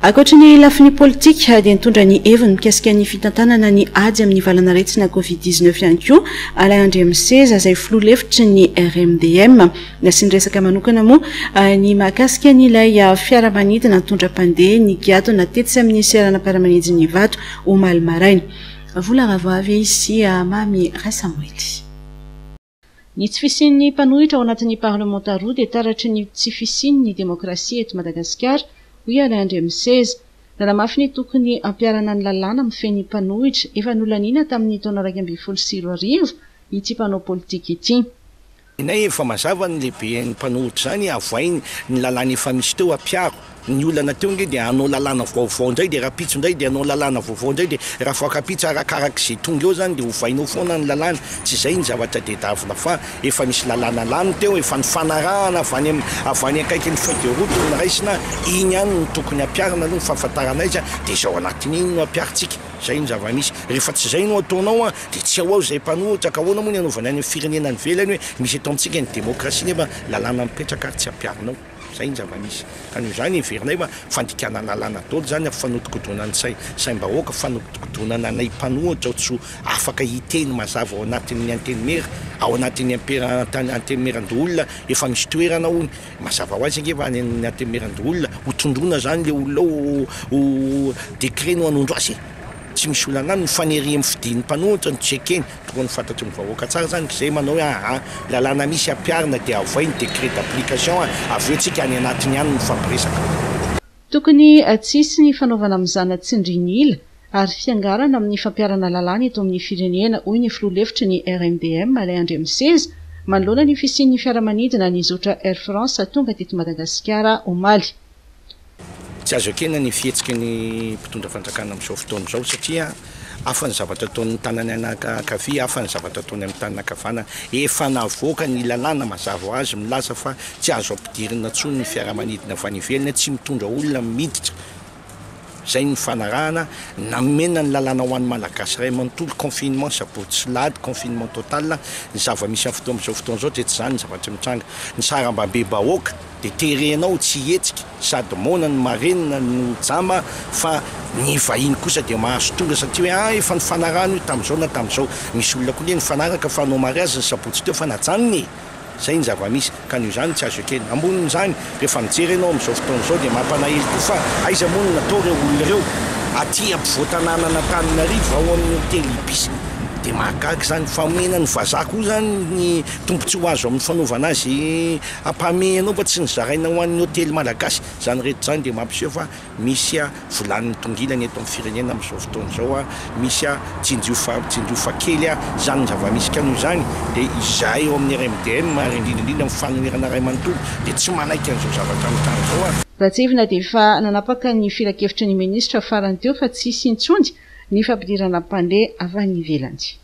Ankoatry ny lafiny politika dia nitondra ny heviny mikasika ny fitantanana ny ady amin'ny valanaretina Covid 19 ihany koa Alain Andriamiseza izay filoha lefitry ny RMDM. Nasiany resaka manokana moa ny mahakasika an'ilay fiaramanidina nitondra mpandeha nigadona tetsy amin'ny seranam-piaramanidin'i Ivato omaly maraina. Vola Ravoavy sy Mamy Rasamoely. Ny tsy fisian'ny mpanohitra ao anatin'ny parlemanta roa dia taratry ny tsy fisian'ny demokrasia eto Madagasikara, hoy Alain Andriamiseza. Nanamafy ny tokony hampiharana ny lalàna mifehy ny mpanohitra efa nolaniana tamin'ny taona 2011 ity mpanao politika ity. Nenay efa mazava ny lehiben'ny mpanohitra izany, avohay ny lalàna efa misy teo, ampiaro. Ny olana teo ange dia hanao lalàna vaovao indray dia rahampitso indray dia hanao lalàna vaovao indray dia rahafaokampitso arakarak'izay tonga eo izany dia ovainao foana ny lalàna. Tsy izay ny zavatra tedavina fa efa misy lalàna lany teo, efa nifanarahana avy any avy any akaikin'ny feuille de route no noraisina, iny ihany no tokony hampiharina aloha ny fahafantarana azy dia izao anatin'iny no hampiharintsika. Izay ny zava-misy. Rehefa tsy izay no ataonao dia tsy ao ao izay mpanohitra ka ahoana moa ny hanaovana any amin'ny firenena any ivelany hoe misy eto amintsika ny demokrasia nefa lalàna mipetraka ary tsy ampiharinao. Izay ny zava-misy. Ka noho izany heverinay fa fandikana lalàna daholo izany, fanodinkodonana ny sai, saim-bahoaka, fanodinkodonana anay mpanohitra tsy ho afaka hiteny mazava ao anatin'ny antenimiera, ao anatin'ny ampera, antenimierandoholona efa misy toerana hono. Mazava ho azy ange fa any amin'ny antenimierandoholona ho tondroina izany ilay olona ao, ho décret no hanondro azy e! Tsy misy olana any, ny fanirian'ny fidin'ny mpanohitra no tsy ekeny. Tokony ho fantatry ny vahoaka tsara izany izay manao hoe aa lalàna misy ampiharina dia avoay ny décret d'application avy eo tsika any anatiny any mifampiresaka. Tokony tsy hisy ny fanaovana mizana tsindrin'ila ary fiangarana amin'ny fampiharana lalàna eto amin'ny firenena, hoy ny filoha lefitry ny RMDM, Alain Andriamiseza, manoloana ny fisian'ny fiaramanidina nizotra Air France tonga teto Madagasikara omaly. Tsy azo ekena ny fihetsiky ny mpitondra fanjakana amin'izao fotoana izao satria hafa ny zavatra ataon'ny tanany ankavia, hafa ny zavatra ataony amin'ny tanana ankavanana. Efa navoaka ny lalàna mazava ho azy milaza fa tsy azo ampidirina intsony ny fiaramanidina avy any ivelany, tsy mitondra olona miditra. Izay no nifanarahana, namena ny lalàna ho an'ny Malagasy iray manontolo, confinement sabotsy sy lahady, confinement total. Ny zava-misy amin'ny fotoana amin'izao fotoana izao dia tsy izany ny zavatra mitranga. Ny sarambabem-bahoaka dia terenao tsy hihetsika, sady moana no marenina no jamba fa ny vahiny kosa dia mahazo tonga satria hoe ah efa nifanarahana io tamin'izao na tamin'izao. Misy olona koa anie nifanaraka fa hanao mariazy ny sabotsy teo fa najanona e! Izay ny zava-misy, ka noho izany tsy azo ekena. Ambonin'izany, rehefa mijery ianao amin'izao fotoana izao dia mampalahelo koa fa aiza moa no natao ireo olona ireo? Aty ampovoan-tanànan'Antananarivo, ao amin'ny hotely Ibis. Dia mahagaga izany. Fa omena ny vazaha koa izany ny tombontsoa azo amin'ny fanaovana azy ampahamehana ao fa tsy nozaraina ho an'ny hotely malagasy. Izany rehetra izany dia mampiseho fa Misy vilany mitongilana eto amin'ny firenena amin'izao fotoana izao, misy tsinjio fa tsinjio fa kely izany ny zava-misy ka noho izany dia izahay ao amin'ny RMDM ary indrindra indrindra ny fanoherana iray manontolo dia tsy manaiky an'izao zavatra mitranga izao. Raha tsiahivina dia efa nanapaka ny filankevitry ny minisitra farany teo fa tsy hisy intsony ny fampidirana mpandeha avy any ivelany.